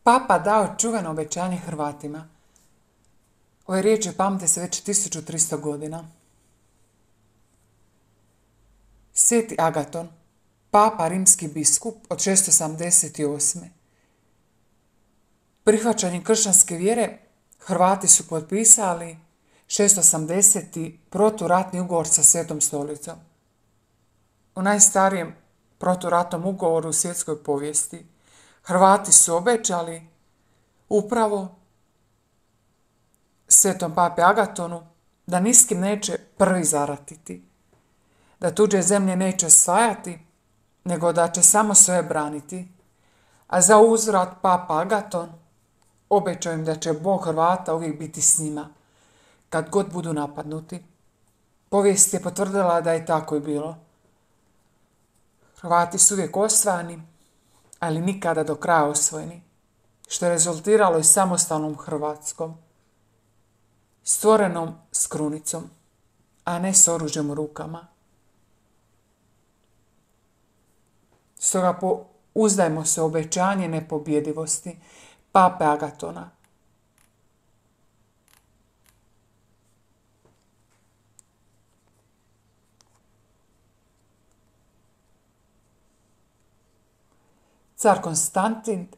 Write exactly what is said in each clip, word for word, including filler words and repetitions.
Papa dao čuveno obećanje Hrvatima. Ove riječi pamte se već tisuću tristo godina. Sveti Agaton, papa rimski biskup od šesto sedamdeset osme. Prihvaćanjem kršćanske vjere Hrvati su potpisali šesto osamdeseti proturatni ugovor sa Svetom stolicom. U najstarijem proturatnom ugovoru u svjetskoj povijesti Hrvati su obećali upravo Svetom papi Agatonu da ni s kim neće prvi zaratiti, da tuđe zemlje neće osvajati, nego da će samo svoje braniti, a za uzvrat papa Agaton obećao im da će Bog Hrvata uvijek biti s njima, kad god budu napadnuti. Povijest je potvrdila da je tako i bilo. Hrvati su uvijek osvajani, ali nikada do kraja osvojeni, što je rezultiralo i samostalnom Hrvatskom, stvorenom s krunicom, a ne s oružjem u rukama. Stoga uzdajmo se u obećanje nepobjedivosti pape Agatona. Car Konstantin,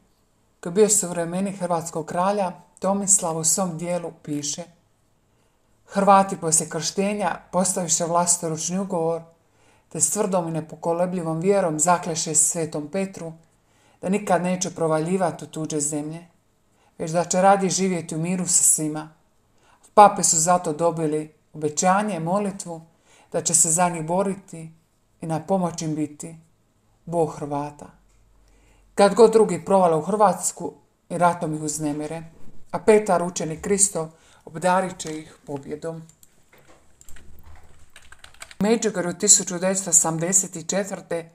koji je bio suvremenik hrvatskog kralja Tomislava, u svom dijelu piše: Hrvati poslije krštenja postaviše vlastoručni ugovor, te s tvrdom i nepokolebljivom vjerom zakleše Svetom Petru da nikad neće provaljivati u tuđe zemlje, već da će radije živjeti u miru sa svima. Pape su zato dobili obećanje, molitvu, da će se za njih boriti i na pomoć im biti Bog Hrvata. Kad god drugi provale u Hrvatsku i ratom ih uznemire, a Petar, učenik Kristov, obdarit će ih pobjedom. U Međugorju tisuću devetsto osamdeset četvrte.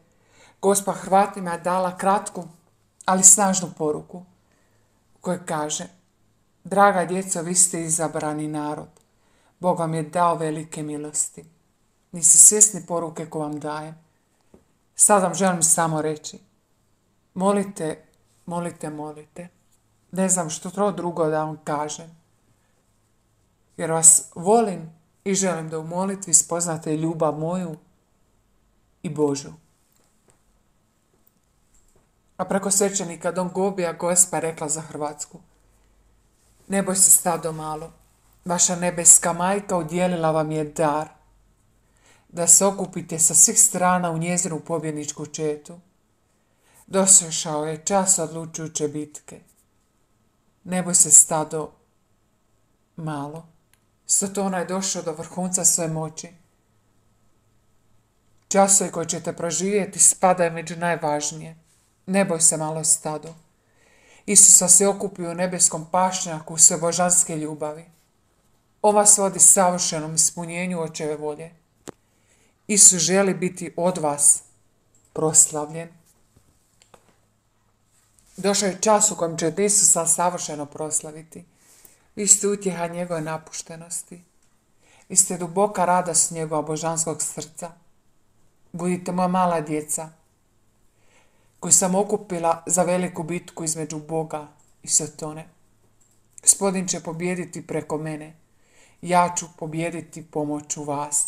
Gospa Hrvatima je dala kratku, ali snažnu poruku, u kojoj kaže: Draga djeco, vi ste izabrani narod. Bog vam je dao velike milosti. Niste svjesni poruke koju vam dajem. Sad vam želim samo reći: molite, molite, molite. Ne znam što to drugo da vam kažem. Jer vas volim i želim da u molitvi spoznate ljubav moju i Božju. A preko svećenika Don Gobija Gospa rekla za Hrvatsku: Ne boj se, stado malo, vaša nebeska majka udjelila vam je dar, da se okupite sa svih strana u njezinu pobjedničku četu. Došao je čas odlučujuće bitke. Ne boj se, stado malo. Sotona je došao do vrhunca svoje moći. Časovi koje ćete proživjeti spadaju među najvažnije. Ne boj se, malo stado. Isusa se okupio u nebeskom pašnjaku sve božanske ljubavi. On vas vodi savršenom ispunjenju očeve volje. Isus želi biti od vas proslavljen. Došao je čas u kojem ćete Isusa savršeno proslaviti. Vi ste utjeha njegove napuštenosti. Vi ste duboka radost njegova božanskog srca. Budite moja mala djeca, koju sam okupila za veliku bitku između Boga i Sotone. Gospodin će pobijediti preko mene. Ja ću pobijediti pomoću vas.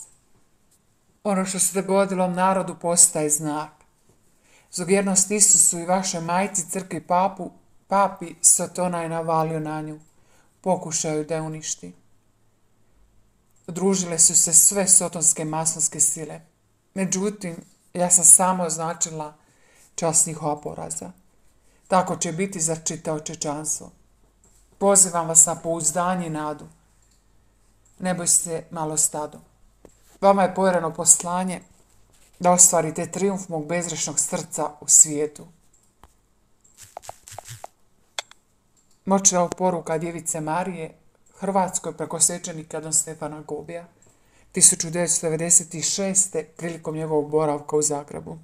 Ono što se dogodilo narodu postaje znak. Zbog vjernosti Isusu i vašoj majci, crkvi, papu, papi, Sotona je navalio na nju. Pokušaju da je uništi. Udružile su se sve sotonske masonske sile. Međutim, ja sam samo označila čas njihova poraza. Tako će biti za čitavo čovječanstvo. Pozivam vas na pouzdanje i nadu. Ne boj se, malo stado. Vama je povjereno poslanje da ostvarite trijumf mog bezgrešnog srca u svijetu. Moćna poruka Djevice Marije Hrvatskoj preko svećenika Don Stefana Gobija tisuću devetsto devedeset šeste. prilikom njegovog boravka u Zagrebu.